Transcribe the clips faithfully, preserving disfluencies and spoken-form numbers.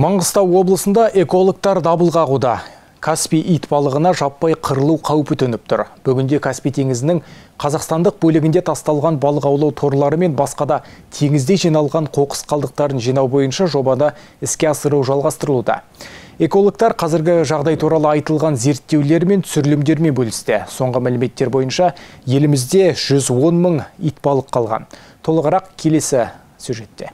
Маңғыстау облысында экологтар дабыл қағуда. Каспий ит балығына жаппай қырылу қаупі төніп тұр. Бүгінде Каспий теңізінің қазақстандық бөлігінде тасталған балық аулау торлары мен басқада теңізде жиналған қоқыс қалдықтарын жинау бойынша жобаны іске асыру жалғастырылуда. Экологтар қазіргі жағдай туралы айтылған зерттеулер мен түсірілімдермен бөлісті. Соңғы мәліметтер бойынша елімізде жүз он мың ит балық қалған. Толығырақ келесі сюжетте.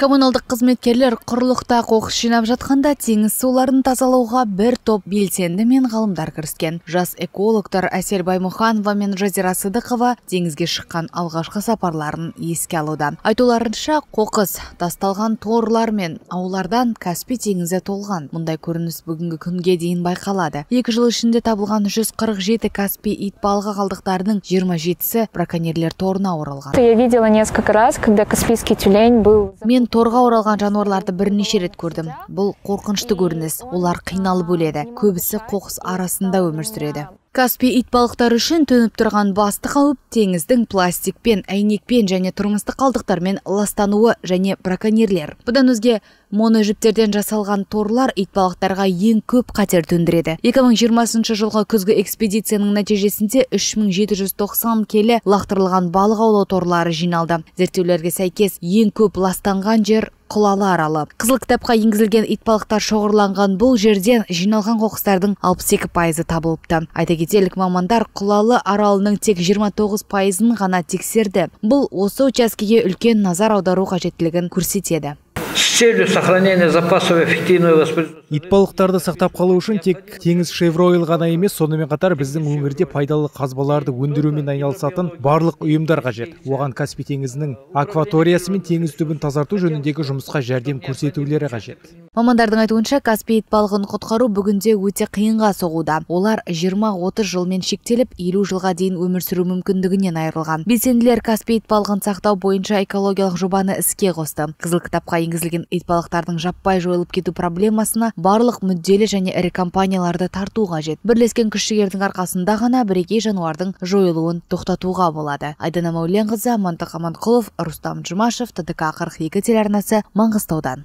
Коммуналдық қызметкерлер құрлықта қоқыс жинап жатқанда теңіз суларын тазалауға бір топ белсенді мен ғалымдар кіріскен. Жас экологтар Әсел Баймұханова мен Жазира Сыдықова теңізге шыққан алғашқы сапарларын еске алуда. Айтуларынша, қоқыс тасталған торлар мен аулардан Каспий теңізі толған. Мұндай көрініс бүгінгі күнге дейін байқалады. Екі жыл ішінде табылған жүз қырық жеті Каспий ит балығы қалдықтарының жиырма жетісі браконьерлер торына оралған. Я видела несколько раз, когда каспийский тюлень был. Мен торға оралған жануарларды бірнеше рет көрдім. Бұл қорқынышты көрініс. Олар қиналып өледі. Көбісі қоқыс арасында өмір сүреді. Каспий ит балықтары үшін төніп тұрған басты қауіп теңіздің пластикпен, әйнекпен және тұрмыстық қалдықтармен ластануы және браконьерлер. Бұдан өзге моножіптерден жасалған торлар ит балықтарға ең көп қатер төндіреді. екі мың жиырмасыншы жылғы күзгі экспедицияның нәтижесінде үш мың жеті жүз тоқсан келі лақтырылған балық аулау торлары жиналды. Зерттеулерге сәйкес ең көп ластанған жер Құлалы аралы. Қызыл кітапқа енгізілген ит балықтар шоғырланған бұл жерден жиналған қоқыстардың алпыс екі пайызы табылыпты. Айта кетелік, мамандар Құлалы аралының тек жиырма тоғыз пайызын ғана тексерді. Бұл осы учаскеге үлкен назар аудару қажеттілігін көрсетеді. С целью сохранения запасов эффективного воспроизводства. Ит балықтарды сақтап қалу үшін тек теңіз Шевройл ғана емес, сонымен қатар біздің өңірде пайдалы қазбаларды өндірумен айналысатын барлық ұйымдар қажет. Оған Каспий теңізінің акваториясы мен теңіз түбін тазарту жөніндегі жұмысқа жәрдем көрсетулері қажет. Мамандардың айтуынша, Каспий ит балығын құтқару бүгінде өте қиынға соғуда. Олар жиырма отыз жылмен шектеліп, елу жылға дейін өмір сүру мүмкіндігінен айырылған. Белсенділер Каспий ит балығын сақтау бойынша экологиялық жобаны іске қосты. Қызыл кітапқа енгізілген ит балықтардың жаппай жойылып кету проблемасына барлық мүдделі және ірі компанияларды тарту қажет. Бірлескен күш-жігердің арқасында ғана бірегей жануардың жойылуын тоқтатуға болады. Айдана Мәуленқызы, Амантық Аманқұлов, Рустам Жұмашев, Т Д К қырық екі телеарнасы, Маңғыстаудан.